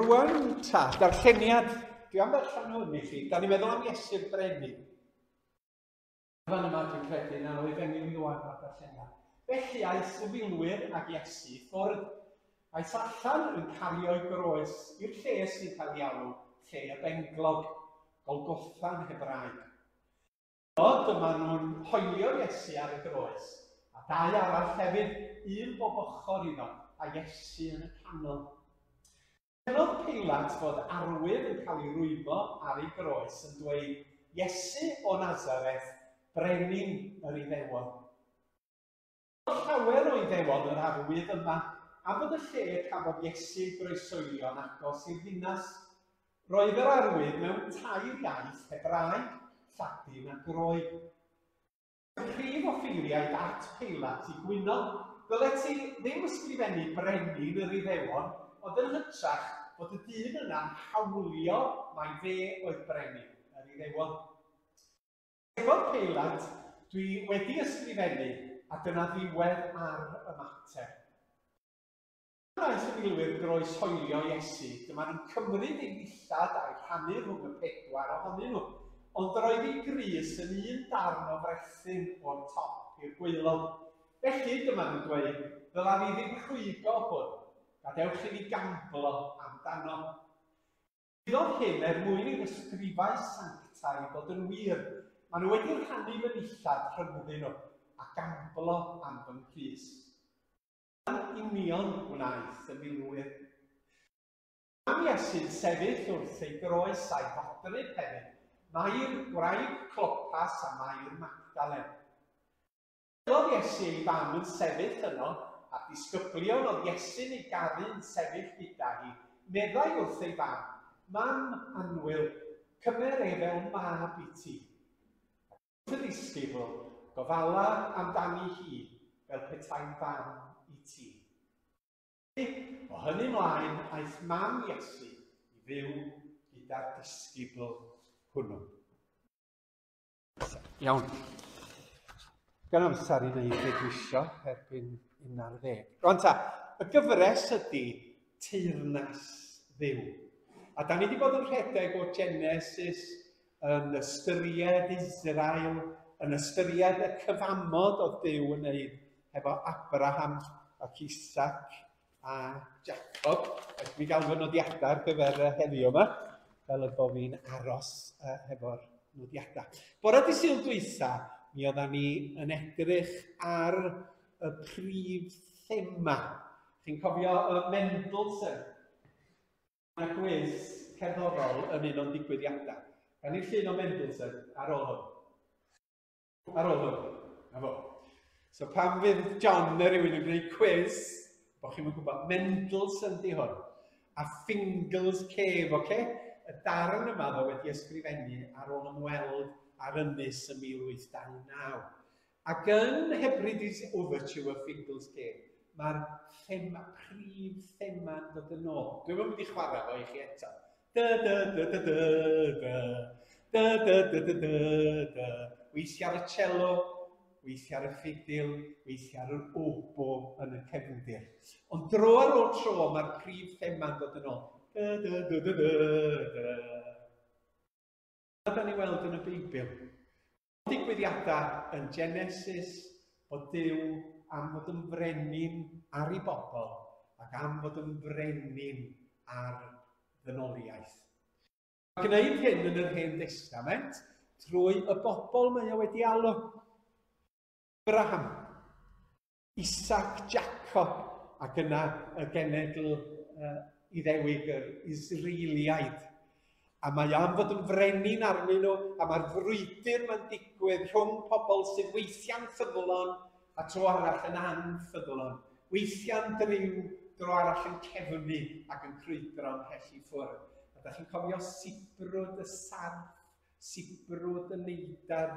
Rwan ta, darlleniad, dwi am ddarllen hwn i chi, da ni'n meddwl am Iesu'r Brenin. Fan yma dwi'n credu na o Efengyl Ioan mae'r darlleniad. Felly aeth y filwyr ag Iesu i ffwrdd. Aeth allan yn cario'i groes i'r lle sy'n cael ei alw lle y benglog, Golgotha'n Hebraeg. Yno dyma nhw'n hoelio Iesu ar y groes, a dau arall hefyd, un bob ochr iddo, a Iesu yn y canol. Gwelodd Peilat fod arwydd yn cael ei rwymo ar ei groes yn dweud, Iesu o Nasareth, Brenin yr Iddewon. Gwelodd llawer o Iddewon yr arwydd yma, am fod y lle y cafodd Iesu ei groesoelio'n agos i'r ddinas. Roedd yr arwydd mewn tair iaith, Hebraeg, Lladin a Groeg. Y prif offeiriaid at Peilat i gwyno, Ddylet ti ddim ysgrifennu brenin yr Iddewon, ond yn hytrach fod y dyn yna'n hawlio mai fe oedd brenin yr Iddewon. Atebodd Peilat, Dwi wedi ysgrifennu, a dyna ddiwedd ar y mater. Pan wnaeth y milwyr groeshoelio Iesu, dyma nhw'n cymryd ei ddillad a'u rhannu rhwng y pedwar ohonyn nhw, ond roedd ei grys yn un darn o frethyn o'r top i'r gwaelod. Felly, dyma nhw'n dweud, Ddyla ni ddim rhwygo hwn. Gadewch i ni gamblo amdano. Digwyddodd hyn er mwyn i'r ysgrifau sanctaidd ddod yn wir, Maen nhw wedi rhannu fy nillad rhyngddyn nhw, a gamblo am fy nghrys. Dyna'n union wnaeth y milwyr. Am Iesu'n sefyll wrth ei groes a'i fodryb hefyd, Mair, gwraig Clopas a Mair Magdalen. Gwelodd Iesu ei fam yn sefyll yno, a'r disgyblion oedd Iesu'n ei garu yn sefyll gyda hi, meddai wrth ei fam, Mam annwyl, cymer e fel mab i ti. Wrth y ddisgybl, gofala amdani hi fel petai'n fam i ti. Felly, o hynny mlaen, aeth mam Iesu i fyw gyda'r disgybl hwnnw. Iawn. Gan amser i wneud beth dwi isio erbyn 11. Rwan ta, y gyfres ydy Teyrnas Dduw. A da ni wedi bod yn rhedeg o Genesis yn ystyried Israel, yn ystyried y cyfamod oedd Duw yn wneud hefo Abraham ac Isaac a Jacob. Ac mi gael fy nodiadau ar gyfer heddiw yma, fel y bo fi'n aros hefo'r nodiadau. Bore di Sul dwytha, mi oedden ni yn edrych ar y prif thema. Chi'n cofio y Mendelssohn? Mae yna gwis cerddorol yn un o'n digwyddiadau. Gawn ni'r llun o Mendelssohn ar ôl hwn. Ar ôl hwn. Na fo. So pan fydd John neu rhywun yn gwneud cwis, bod chi'n gwybod, Mendelssohn di hwn. A Fingal's Cave, oce? Okay? Y darn yma ddo wedi ysgrifennu ar ôl ymweld ar ynys ym 1829. Ac yn Hebrides Overture Fingal's Cave, mae'r thema, prif thema'n dod yn ôl. Dwi'm yn mynd i chwarae fo i chi eto. Da da da da da da da da da da da da. Weithiau ar y cello, weithiau ar y ffidil, weithiau ar yr obo yn y cefndir. Ond dro ar ôl tro mae'r prif thema'n dod yn ôl. Da da da da da da. Dyna da ni weld yn y Beibl. Digwyddiadau yn Genesis bod Duw am fod yn frenin ar ei bobl ac am fod yn frenin ar ddynoliaeth. Mae gwneud hyn yn yr Hen Destament trwy y bobl mae o wedi alw. Abraham, Isaac, Jacob ac yna y genedl uh, Iddewig, yr Israeliaid. A mae am fod yn frenin arnyn nhw, a mae'r frwydr mae'n digwydd rhwng pobl sydd weithiau'n ffyddlon a tro arall yn anffyddlon. Weithiau'n driw, dro arall yn cefnu ac yn crwydro ymhell i ffwrdd. A da chi'n cofio sibrwd y sarff, sibrwd y neidar,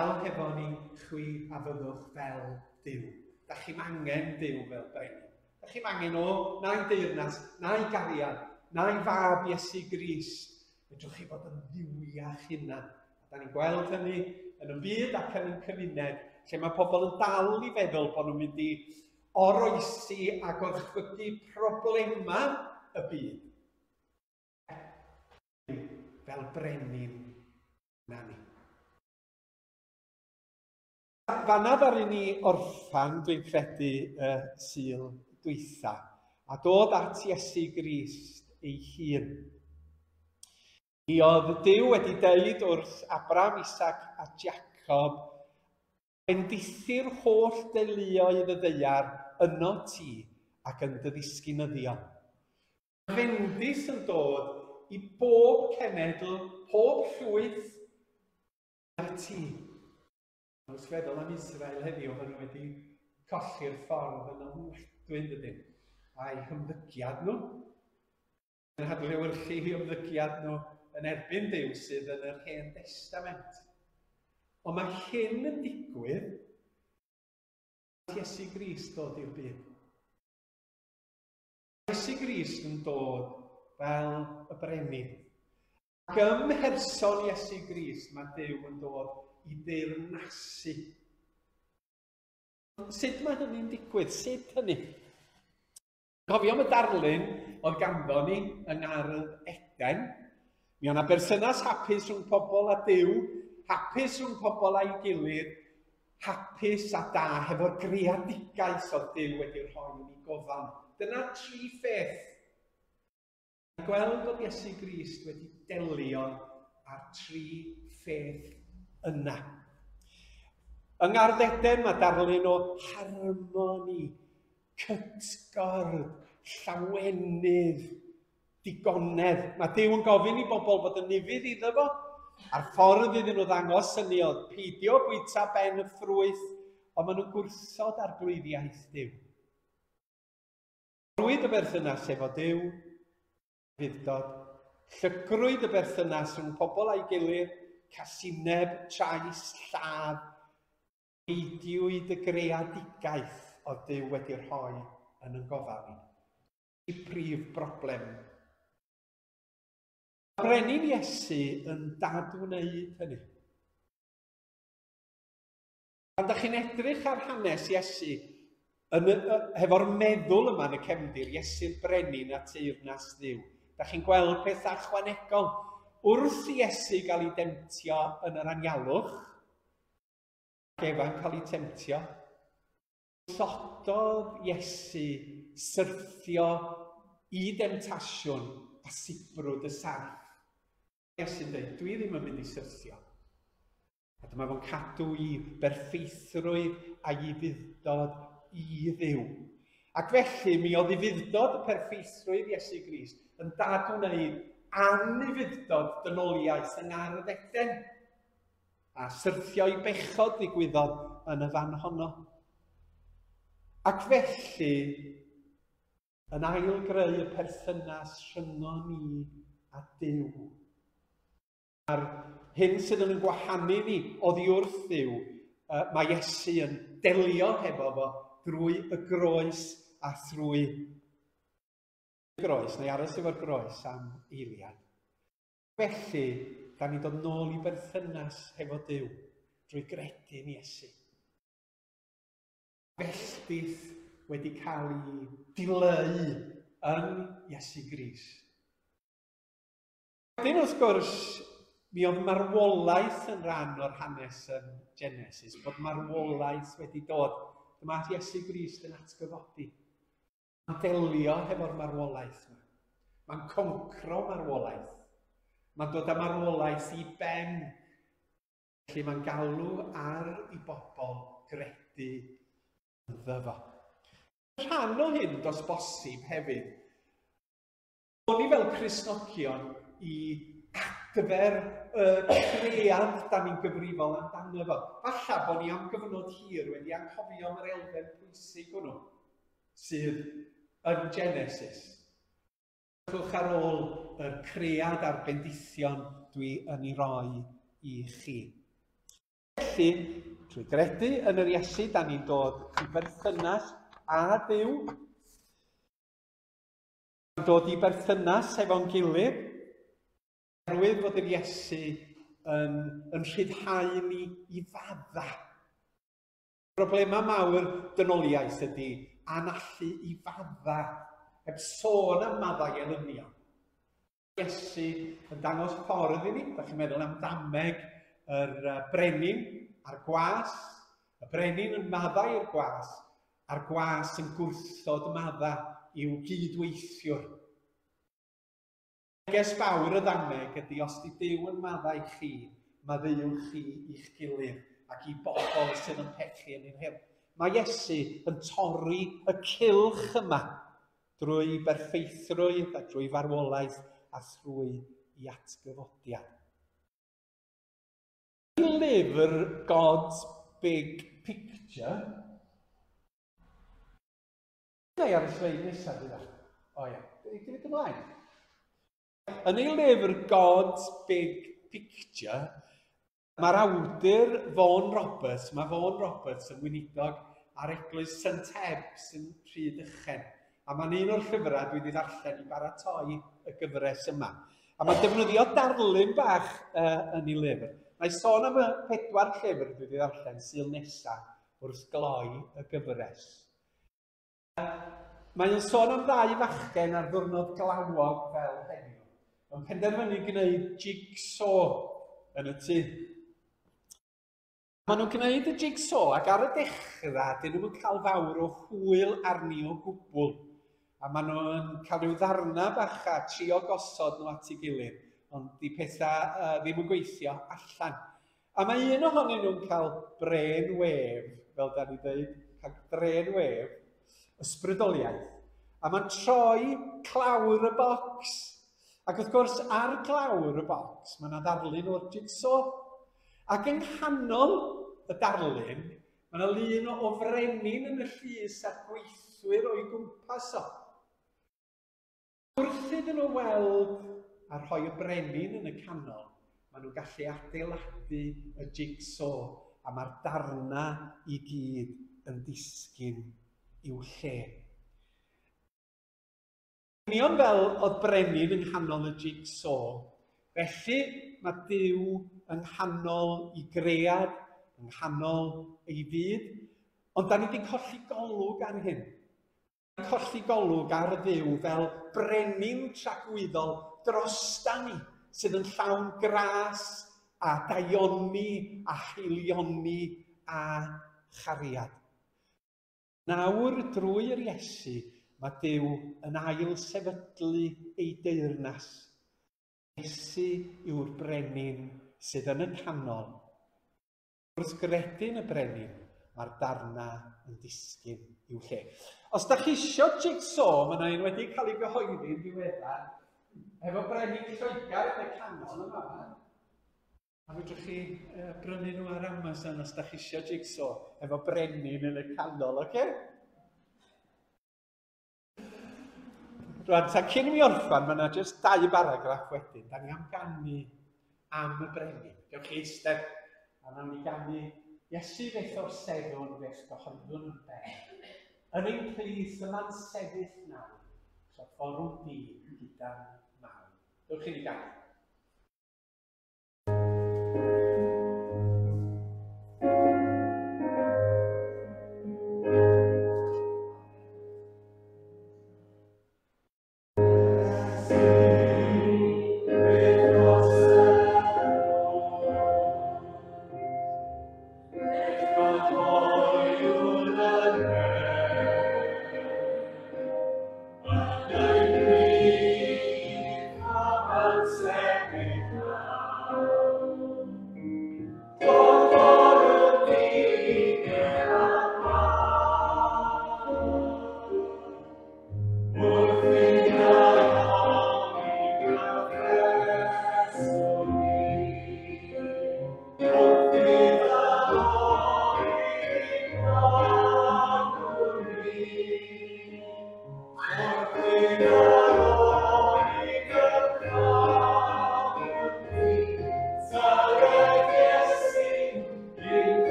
Dal hefo ni, chwi a fyddwch fel Duw. Da chi'm angen Duw fel brenin. Da chi'm angen o, na'i deyrnas, na'i gariad, na'i fab Iesu Grist. Fedrwch chi fod yn dduwiach hunan. A da ni'n gweld hynny yn y byd ac yn ein cymuned, lle mae pobl yn dal i feddwl bod nhw'n mynd i oroesi a gorchfygu problemau y byd. Fel brenin na ni. Fanna ddaru ni orffan, dwi'n credu, y Sul dwytha, a dod at Iesu Grist ei hun. Mi oedd Duw wedi deud wrth Abraham, Isaac a Jacob, bendithi'r holl deuluoedd y ddaear yno ti ac yn dy ddisgynyddion. Fendith yn dod i bob cenedl, pob llwyth, a ti. Wrth feddwl am Israel heddiw, maen nhw wedi colli'r ffordd yn ofnadwy, yn dydyn, a'i hymddygiad nhw. Yn hadlewyrchu eu hymddygiad nhw yn erbyn Duw sydd yn yr Hen Destament. Ond mae hyn yn digwydd Iesu Grist dod i'r byd. Iesu Grist yn dod fel y brenin. Ac ym mherson Iesu Grist mae Duw yn dod i deyrnasu. Sut mae hynny'n digwydd? Sut hynny? Cofio am y darlun oedd ganddo ni yng Ngardd Eden. Mi oedd yna berthynas hapus rhwng pobl a Duw, hapus rhwng pobl a'i gilydd, hapus a da hefo'r greadigaeth oedd Duw wedi rhoi yn ei gofal. Dyna tri pheth. Gweld bod Iesu Grist wedi delio â'r tri pheth yna. Yng Ngardd Eden mae darlun o harmoni, cytgord, llawenydd, digonedd. Mae Duw yn gofyn i bobl fod yn ufudd iddo fo, a'r ffordd iddyn nhw ddangos hynny oedd peidio bwyta ben y ffrwyth, ond maen nhw'n gwrthod arglwyddiaeth Duw. Torrwyd y berthynas efo Duw, ufudd-dod. Llygrwyd y berthynas rhwng pobl a'i gilydd, casineb, trais, lladd. Peidiwyd y greadigaeth oedd Duw wedi rhoi yn ein gofal ni. Y prif broblem. Mae Brenin Iesu yn dadwneud hynny. Pan da chi'n edrych ar hanes Iesu yn y, hefo'r meddwl yma yn y cefndir, Iesu'r brenin a teyrnas Dduw, da chi'n gweld pethau ychwanegol. Wrth i Iesu gael ei demtio yn yr anialwch, ac Efa'n cael ei temtio, gwrthododd Iesu syrthio i demtasiwn a sibrwd y sarff. Iesu'n dweud, dwi ddim yn mynd i syrthio. A dyma fo'n cadw i berffeithrwydd a'i ufudd-dod i Dduw. Ac felly mi oedd ufudd-dod y perffeithrwydd Iesu Grist yn dadwneud anufudd-dod dynoliaeth yng Ngardd Eden. A syrthio i bechod ddigwyddodd yn y fan honno. Ac felly, yn ail-greu y perthynas rhyngon ni a Duw. A'r hyn sydd yn gwahanu ni oddi wrth Dduw, mae Iesu yn delio hefo fo drwy y groes a thrwy y groes, neu aros efo'r groes am eiliad. Felly, da ni'n dod nôl i berthynas hefo Duw drwy gredu yn Iesu. Felldith wedi cael ei dileu yn Iesu Grist. Wedyn, wrth gwrs, mi oedd marwolaeth yn rhan o'r hanes yn Genesis, bod marwolaeth wedi dod. Dyma Iesu Grist yn atgyfodi. Mae'n delio hefo'r marwolaeth yma. Mae'n concro marwolaeth. Mae'n dod â marwolaeth i ben. Felly mae'n galw ar i bobl gredu ynddo fo. Rhan o hyn, dos bosib hefyd, O'n ni fel Cristnogion i adfer y cread da ni'n gyfrifol amdano fo. Falla bod ni am gyfnod hir wedi anghofio am yr elfen pwysig hwnnw sydd yn Genesis. Edrychwch ar ôl y cread a'r bendithion dwi yn ei roi i chi. Felly, trwy gredu yn yr Iesu, da ni'n dod i berthynas â Duw, dod i berthynas efo'n gilydd, oherwydd fod yr Iesu yn, yn rhyddhau ni i fadda. Problemau mawr dynoliaeth ydy anallu i fadda. Heb sôn am maddau elynion. Iesu yn dangos ffordd i ni. Da chi'n meddwl am ddameg yr brenin a'r gwas. Y brenin yn maddau i'r gwas, a'r gwas yn gwrthod maddau i'w gydweithiwr. Neges fawr y ddameg ydy os di Duw yn maddau chi, maddeuwch chi i'ch gilydd ac i bobl sydd yn pechu yn ein herbyn. Mae Iesu yn torri y cylch yma drwy berffeithrwydd a drwy farwolaeth a thrwy i atgyfodiad. Yn lyfr God's Big Picture, neu ar y sleid nesaf fydd o. O ia, di fynd ymlaen. Yn ei lyfr God's Big Picture, mae'r awdur Vaughan Roberts, mae Vaughan Roberts yn weinidog ar eglwys St Ebs yn Rhydychen. A mae'n un o'r llyfrau dwi wedi ddarllen i baratoi y gyfres yma. A mae'n defnyddio darlun bach yn ei lyfr. Mae'n sôn am y 4 llyfr dwi wedi ddarllen Sul nesaf wrth gloi y gyfres. Mae'n sôn am ddau fachgen ar ddiwrnod glawog fel heddiw, yn penderfynu gwneud jigsaw yn y tŷ. Maen nhw'n gwneud y jigsaw ac ar y dechrau, dyn nhw'n cael fawr o hwyl arni o gwbl. A maen nhw'n cael rhyw ddarna bach a trio gosod nhw at ei gilydd, ond di pethau ddim yn gweithio allan. A mae un ohonyn nhw'n cael brain wave, fel da ni dweud, cael brain wave, ysbrydoliaeth. A mae'n troi clawr y bocs. Ac wrth gwrs, ar glawr y bocs, mae yna ddarlun o'r jigsaw. Ac yng nghanol y darlun, mae yna lun o frenin yn y llys a'r gweithwyr o'i gwmpas o. Wrth iddyn nhw weld a rhoi y brenin yn y canol, maen nhw'n gallu adeiladu y jigsaw a mae'r darna i gyd yn disgyn i'w lle. Union fel oedd brenin yng nghanol y jigsaw, felly mae Duw yng nghanol ei gread, yng nghanol ei fyd, ond da ni wedi colli golwg ar hyn. Colli golwg ar Dduw fel brenin tragwyddol drosta ni, sydd yn llawn gras a daioni a haelioni a chariad. Nawr, drwy'r Iesu, mae Duw yn ail sefydlu ei deyrnas. Iesu yw'r brenin sydd yn y canol. Wrth gredu yn y brenin, mae'r darna yn disgyn i'w lle. Os da chi isio jigsaw, mae yna un wedi cael ei gyhoeddi yn ddiweddar, efo brenin Lloegr yn y canol yma. A fedrwch chi brynu nhw ar Amazon os da chi isio jigsaw efo brenin yn y canol, oce? Rwan, ta cyn i mi orffan, mae yna jyst 2 baragraff wedyn. Da ni am ganu am y brenin. Gewch chi eistedd, a nawn ni ganu Iesu beth o'r sefwn, beth gyhoeddwn yn ben. Yn ein plith yma'n sefyll nawr, trafforwn di gyda'n mawr. Dewch i ni ganu. Amen.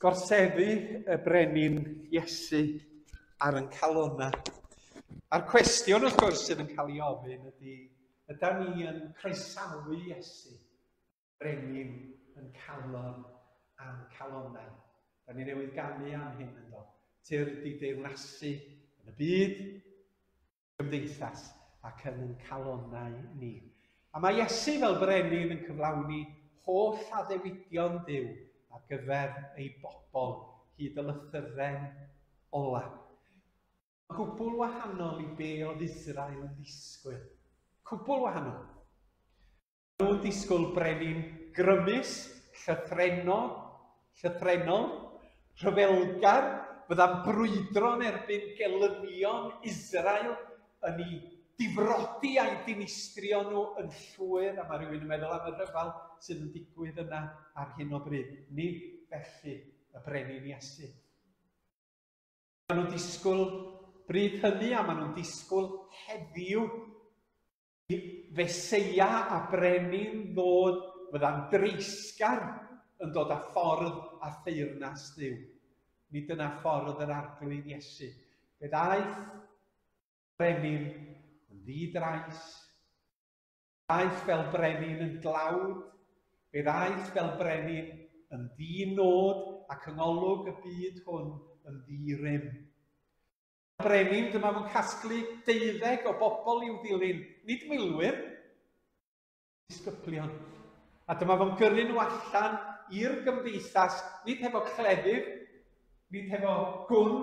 Gorseddu y brenin Iesu ar yn calona. A'r cwestiwn, wrth gwrs, sydd yn cael ei ofyn ydy, yda ni yn croesawu Iesu, brenin yn calon a'n calonau? Da ni newydd ganu am hyn yn do. Tyrd i deyrnasu yn y byd, gymdeithas ac yn ein calonnau ni. A mae Iesu fel brenin yn cyflawni holl addewidion Duw ar gyfer ei bobl hyd y lythyren ola. Cwbl wahanol i be oedd Israel yn ddisgwyl. Cwbl wahanol. Nhw'n disgwyl brenin grymus, llythrennog, llythrennol, rhyfelgar, fydda'n brwydro yn erbyn gelynion Israel yn ei difrodi a'i dinistrio nhw yn llwyr, a mae rhywun yn meddwl am y rhyfel sydd yn digwydd yna ar hyn o bryd. Nid felly y brenin Iesu. Maen nhw'n disgwyl bryd hynny a maen nhw'n disgwyl heddiw I Feseia a brenin ddod fydda'n dreisgar yn dod â ffordd a theyrnas Dduw. Nid dyna ffordd yr Arglwydd Iesu. Fe ddaeth brenin yn ddi-drais, ddaeth fel brenin yn dlawd, fe ddaeth fel brenin yn ddi-nod ac yng ngolwg y byd hwn yn ddi-rym. Brenin, dyma fo'n casglu deuddeg o bobl i'w ddilyn, nid milwyr, disgyblion. A dyma fo'n gyrru nhw allan i'r gymdeithas, nid hefo cleddyf, nid hefo gwn,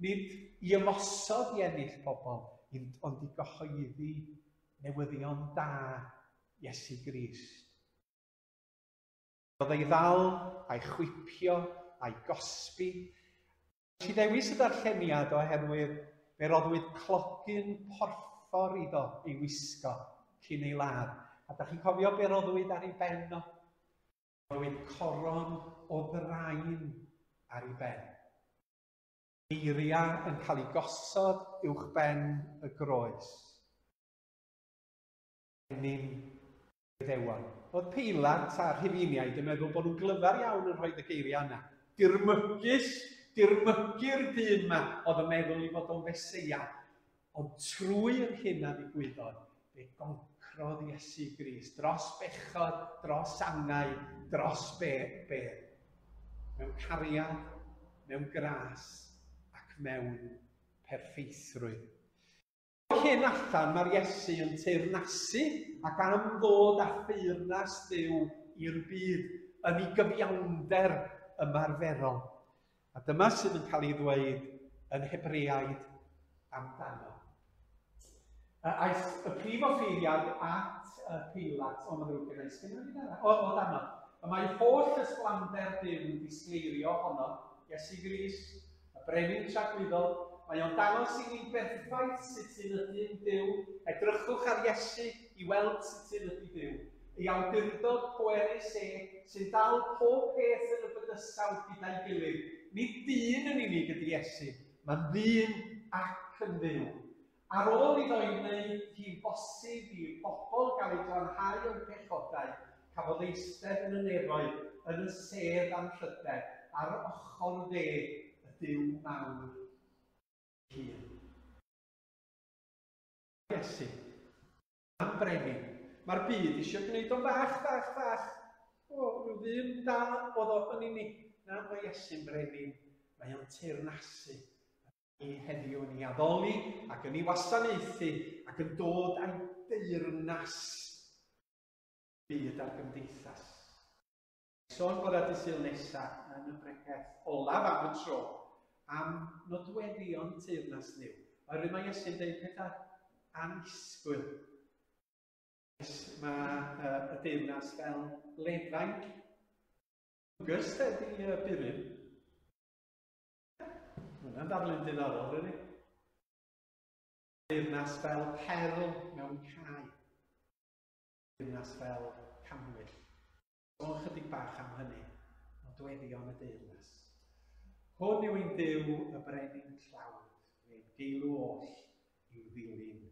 nid i ymosod i ennill pobl, ond i gyhoeddi newyddion da Iesu Grist. Roedd ei ddal, a'i chwipio, a'i gosbi. Nes i ddewis y darlleniad oherwydd fe roddwyd clogyn porffor iddo ei wisgo cyn ei ladd. A da chi'n cofio be roddwyd ar ei ben o? Roddwyd coron o ddrain ar ei ben. Geiriau yn cael eu gosod uwch ben y groes. Brenin Iddewon. Oedd Peilat a'r Rhufeiniaid yn meddwl bod nhw'n glyfar iawn yn rhoi y geiriau yna. Dirmygus, dirmygu'r dyn yma oedd yn meddwl i fod o'n Feseia. Ond trwy'r hyn a ddigwyddodd, fe goncrodd Iesu Grist dros bechod, dros angau, dros be, bedd. Mewn cariad, mewn gras ac mewn perffeithrwydd. O hyn allan mae'r Iesu yn teyrnasu ac am ddod â theyrnas Dduw i'r byd yn ei gyfiawnder ymarferol. A dyma sydd yn cael ei ddweud yn Hebreaid amdano. Aeth y prif offeiriad at y Peilat, o, mae'n ddrwg gen i, sgen i o, o dano. Y mae holl ysblander Duw yn disgleirio ohono, Iesu Grist, Y brenin tragwyddol, mae o'n dangos i ni'n berffaith sut un ydy'n Duw. Edrychwch ar Iesu i weld sut un ydy Duw. Ei awdurdod pwerus e sy'n dal pob peth yn y bydysawd gyda'i gilydd. Nid dyn yn unig ydy Iesu, mae'n ddyn ac yn Dduw. Ar ôl iddo ei wneud hi'n bosib i bobl gael eu glanhau o'u pechodau, cafodd eistedd yn y nefoedd yn y sedd anrhydedd ar ochr dde y Duw mawr ei hun. Iesu, am brenin. Mae'r byd eisiau gwneud o'n fach, fach, fach. O, rhyw ddyn da oedd o yn unig. Na, mae Iesu'n brenin. Mae o'n teyrnasu. Ni heddiw yn ei addoli ac yn ei wasanaethu ac yn dod â'i deyrnas byd a'r gymdeithas. Sôn bore dydd Sul nesaf yn y bregeth olaf am y tro am nodweddion teyrnas Dduw. Oherwydd mae Iesu'n dweud pethau annisgwyl. Mae y deyrnas fel lefain. August ydy burum. Hwnna'n ddarlun diddorol, dydy? Deyrnas fel perl mewn cae. Deyrnas fel cannwyll. Sôn chydig bach am hynny, nodweddion y deyrnas. Hwn yw ein Duw, y brenin tlawd, fe'n geilw oll i'w ddilyn.